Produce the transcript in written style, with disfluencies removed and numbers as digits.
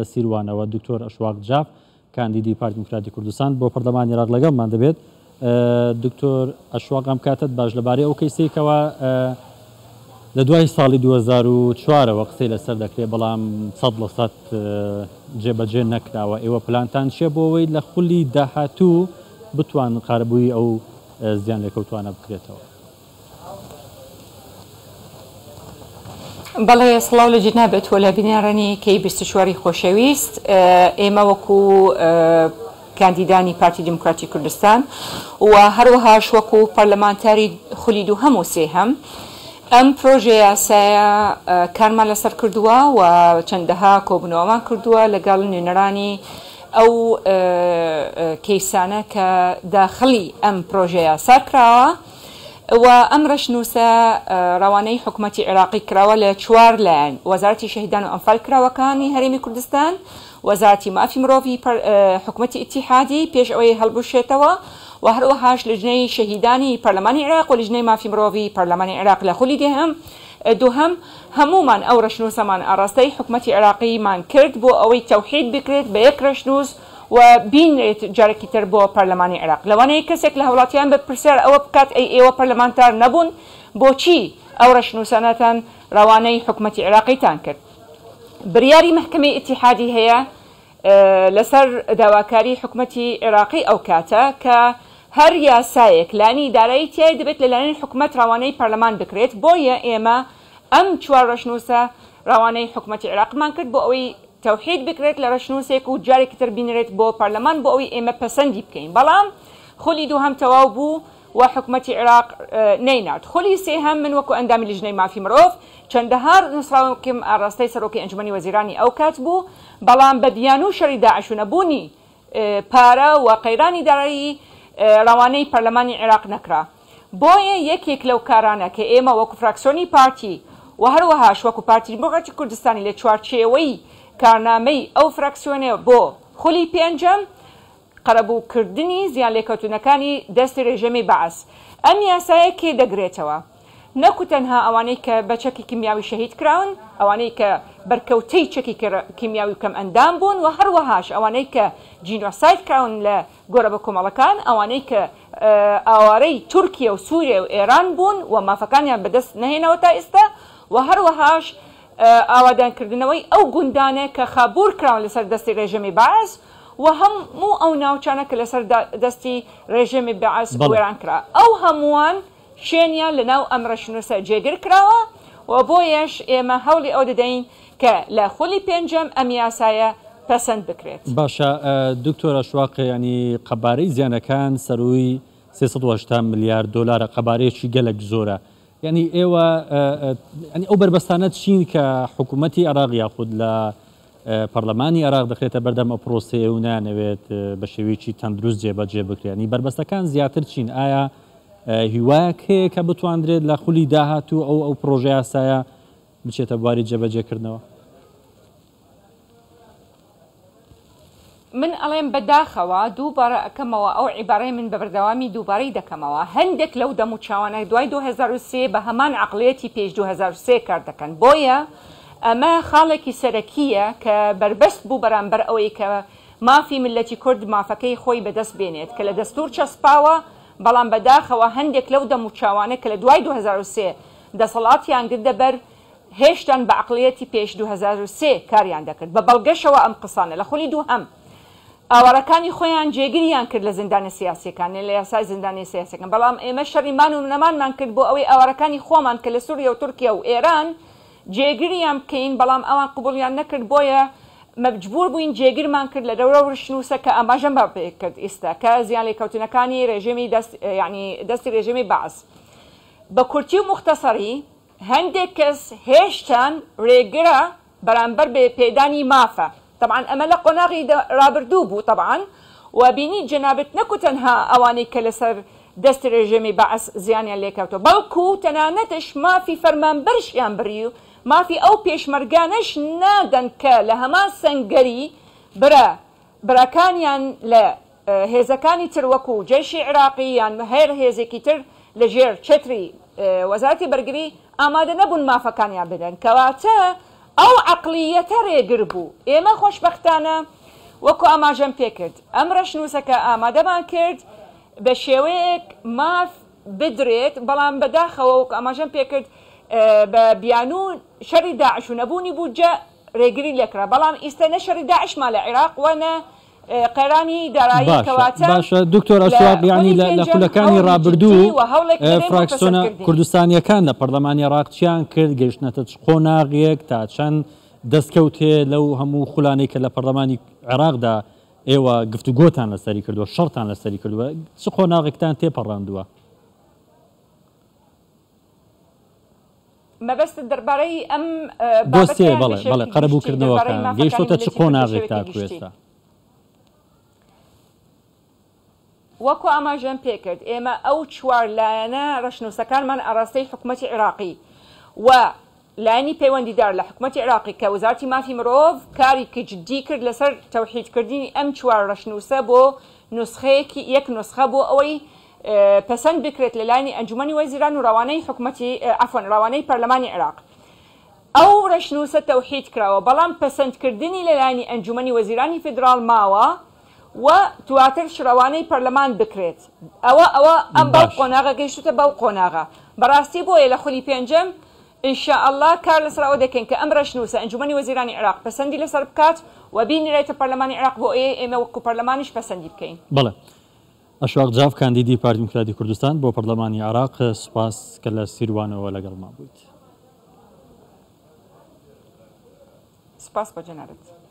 لە سیروانەوە دکتۆر ئەشواق جاف کاندیدی پارتی دیموکراتی کوردستان بۆ پەرلەمانی عێراق لەگەڵمان دەبێت. دکتۆر ئەشواق ئەم کاتەت باش لەبارەی ئەو کەیسەی کەوا لە دوای ساڵی 2004ەوە قسەی لەسەر دەکرێت بەڵام 100% جێبەجێ نەکراوە ئێوە پلانتان چییە بۆ ئەوەی لە خولی داهاتوو بتوان قەرەبووی ئەو زیان لێکەوتوانە بکرێتەوە؟ بەڵێ سڵاو لە جەنابت و لە بینەرانی کەی 24 خۆشەویست ئێمە وەکو کاندیدانی پارتی دیموکراتی کوردستان و هەروەهاش وەکو پەرلەمانتاری خولی دووهەم و سێهەم ئەم پرۆژە یاسایە کارمان لەسەر کردووە و چەندەها کۆبوونەوەمان کردووە لەگەڵ نوێنەرانی ئەو کەیسانە کە داخڵی ئەم پرۆژە یاسا کراوە و ئەم رەشنووسە رەوانەی حکومەتی عێراقی کراوە لە چوار لایەن، وەزارەتی شەهیدان و ئەنفالکراوەکانی هەرێمی کوردستان، وەزارەتی مافی مرۆڤی حکومەتی ئیتیحادی پێش ئەوەی هەڵبوشێتەوە و هەروەهاش لجنەی شەهیدانی پەرلەمانی عێراق و لجنەی مافی مرۆڤی پەرلەمانی عێراق لە خولی دێهەم دووهەم هەموومان ئەو رەشنووسەمان ئاڕاستەی حکومەتی عێراقیمان کرد بۆ ئەوەی تەوحید بکرێت بە یەک رەشنووس و بینرێت جارێکی تر بۆ پەرلەمانی عێراق. لەوانەیە کەسێک لە هاوڵاتیان بە پرسیار ئەوە بکات ئەی ئێوە پەرلەمانتار نەبوون بۆچی ئەو رەشنووسانەتان رەوانەی حکومەتی عێراقیتان کرد؟ بریاری مەحکەمەی ئیتیحادی هەیە لەسەر داواکاری حکومەتی عێراقی ئەو کاتە کە هەر یاسایەک لانی دارایی تیایە دەبێت لەلایەن حکومەت رەوانەی پەرلەمان بکرێت بۆیە ئێمە ئەم چوار رەشنووسە رەوانەی حکومەتی عێراقمان کرد بۆ ئەوەی تەوحید بکرێت لە رەشنووسێک و جارێکی تر بینرێت بۆ پەرلەمان بۆ ئەوەی ئێمە پەسەندی بکەین بەڵام خولی دووهەم تەواو بوو و حکومەتی عێراق نەینارد خولی سێهەم من وەکو ئەندامی لیژنەی مافی مرۆڤ چەندەها نووسراوێکم ئاڕاستەی سەرۆکی ئەنجومەنی وەزیرانی ئەو کات بوو بەڵام بە بیانوو شەری داعش و نەبوونی پارە و قەیرانی دارایی رەوانەی پەرلەمانی عێراق نەکرا. بۆیە یەکێک لەو کارانە کە ئێمە وەکو فراکسیۆنی پارتی و هەروەهاش وەکو پارتی دیموکراتی کوردستانی لە چوارچێوەی کارنامەی ئەو فراکسیۆنە بۆ خولی پێنجەم قەرەبووکردنی زیانلێکەوتوونەکانی دەستی رژێمی بەعس ئەم یاسایە کێ دەگرێتەوە؟ نەکو تەنها ئەوانەی کە بە چەکی کیمیاوی شەهید کراون، ئەوانەی کە بەرکەوتەی چەکی کیمیاوی و کەمئەندام بوون و هەروەهاش ئەوانەی کە جینۆساید کراون لە گۆرە بەکۆمەڵەکان، ئەوانەی کە ئاوارەی تورکیە و سوریە و ئێران بوون و مافەکانیان بەدەست نەهێناوە تا ئیستا و هەروەهاش ئاوادانکردنەوەی ئەو گوندانە کە خابوور کراون لەسەر دەستی رێژێمی بەعس و هەموو ئەو ناوچانە کە لەسەر دەستی رێژێمی بەعس وێران کرا ئەو هەمووان شوێنیان لە ناو ئەم رەشنووسە جێگر کراوە و بۆیەش ئێمە هەوڵی ئەوە دەدەین کە لە خولی پێنجەم ئەم یاسایە پەسەند بکرێت. باشە دکتۆر ئەشواق یانی قەبارەی زیانەکان سەرووی 380 ملیار دۆلارە قەبارەیەکی گەلەک زۆرە یانی ئێوە یانی ئەو بەربەستانە چین کە حکوومەتی عێراق یاخود لە پەرلەمانی عێراق دەخرێتە بەردەم ئەو پرۆسەیە و نانەوێت بە شێوەیەکی تەندروست جێبەجێ بکرێت یانی بەربەستەکان زیاتر چین ئایا هیوایەک هەیە کە بتواندرێت لە خولی داهاتوو ئەو ئەو پرۆژە یاسایە بچێتە بواری جێبەجێکردنەوە؟ من ئەڵێم بە داخەوە دووبارە ئەکەمەوە ئەو عیبارەی من بە بەردەوامی دووبارەی دەکەمەوە هەندێک لەو دەموچاوانە دوای 2003 بە هەمان عەقڵیەتی پێش 2003 کار دەکەن بۆیە ئەمە خاڵێکی سەرەکییە کە بەربەست بوو بەرامبەر ئەوەی کە مافی میللەتی کورد مافەکەی خۆی بەدەست بێنێت کە لە دەستوور چەسپاوە بەڵام بەداخەوە هەندێک لەو دەموچاوانە کە لە دوای 2003 دەسەڵاتیان گرتە بەر هێشتان بە عەقڵیەتی پێش 2003 کاریان دەکرد بە بەڵگەشەوە ئەم قسانە لە خولی دووهەم ئاوارەکانی خۆیان جێگریان کرد لە زیندانە سیاسیەکان لە یاسای زیندانیە سیاسیەکان بەڵام ئێمە شەڕی مان و نەمانمان کرد بۆ ئەوەی ئاوارەکانی خۆمان کە لە سوریە و تورکیا و ئێران جێگریان بکەین بەڵام ئەوان قبوڵیان نەکرد بۆیە مەجبور بووین جێگرمان کرد لە دەورە ورشنووسە کە ئاماژەم بە پێ کرد ئیستا کە زیانلێکەوتنەکانی رێژێمی دەست یانی دەستی رێژێمی بەعس بە کورتی و موختەسەری هەندێک کەس هێشتان رێگرە بەرامبەر بە پێدانی مافە تەبعەن ئەمە لە قۆناغی رابردوو بوو تەبعەن و بینیت جەنابت نەکو تەنها ئەوانەی کە لەسەر دەستی رژێمی بەعس زیانیان لێکەوتوە بەڵکو تەنانەتش مافی فەرمانبەرشیان بڕی و مافی ئەو پێشمەرگانەش نادەن کە لە هەمان سەنگەری برا براکانیان لە هێزەکانی تر وەکو جەیشی عیراقی یان هەر هێزێکی تر لە ژێر چەتری وەزارەتی بەرگری ئامادە نەبوون مافەکانیان بدەن کەواتە. ئەو عەقڵییەتە رێگر بوو. ئێمە خۆشبەختانە وەکو ئاماژەم پێکرد ئەم رەشنووسەکە ئامادەمان کرد بە شێوەیەک ماف بدرێت، بەڵام بەداخەوە وەکو ئاماژەم پێکرد بە بیانوو شەڕی داعش و نەبوونی بودجە رێگری لێکرا، بەڵام ئیستە نە شەڕی داعشمان لە عیراق و نە قەیرانی دارایی باشە کەواتە باشە دکتۆر لە ئەشواق یعنی خولی لە لە پێنجەم خولەکانی هەوڵی جدی ڕابردوو و هەوڵێک دەدەین بۆ فراکسیۆنە پەسەندکردنی. کوردستانیەکان لە پەرلەمانی عێراق چیان کرد گەیشتنەتە چ قۆناغێک تا چەند دەستکەوت هەیە لەو هەموو خولانەی کە لە پەرلەمانی عێراقدا ئێوە گفتوگۆتان لەسەری کردووە شەڕتان لەسەری کردووە چ قۆناغێکتان تێپەڕاندووە؟ مەبەستت دەربارەی ئەم بابەتە دۆسیەیە یان بە بەڵێ بەڵێ شێوەیەکی گشتی قەرەبوو دەربارەی کردنەوەکان مافەکانی گەیشتۆتە چ میللەتی کورد بە قۆناغێک شێوەیەکی تاکو گشتی؟ ئێستا؟ وەکو ئاماژەم پێکرد ئێمە ئەو چوار لایەنە ڕەشنووسەکانمان ئاڕاستەی حکومەتی عێراقی و لایەنی پەیوەندیدار لە حکومەتی عێراقی کە وەزارەتی مافی مرۆڤ کارێکی جدی کرد لەسەر تەوحیدکردنی ئەم چوار ڕەشنووسە بۆ نوسخەیەکی یەک نوسخە بۆ ئەوەی پەسەند بکرێت لە لایەنی ئەنجومەنی وەزیران و ڕەوانەی حکومەتی عەفوەن ڕەوانەی پەرلەمانی عێراق ئەو ڕەشنووسە تەوحید کراوە بەڵام پەسەندکردنی لە لایەنی ئەنجومەنی وەزیرانی فیدراڵ ماوە و دواترش ڕەوانەی پەرلەمان بکرێت ئەوە ئەوە ئەم بەو باش. قۆناغە گەیشتوتە بەو قۆناغە بەڕاستی بۆیە لە خولی پێنجەم ان شاء اللە کار لەسەر ئەوە دەکەین کە ئەم ڕەشنووسە ئەنجومەنی وەزیرانی عێراق پەسەندی لەسەر بکات و بینرێتە پەرلەمانی عێراق بۆ ئەوەی ئێمە وەکو پەرلەمانیش پەسەندی بکەین. بەڵێ. ئەشواق جاف کاندیدی پارتی دیموکراتی کوردستان بۆ پەرلەمانی عێراق سوپاس کە لە سیروانەوە لەگەڵمان بوویت. سوپاس بۆ جەنابت.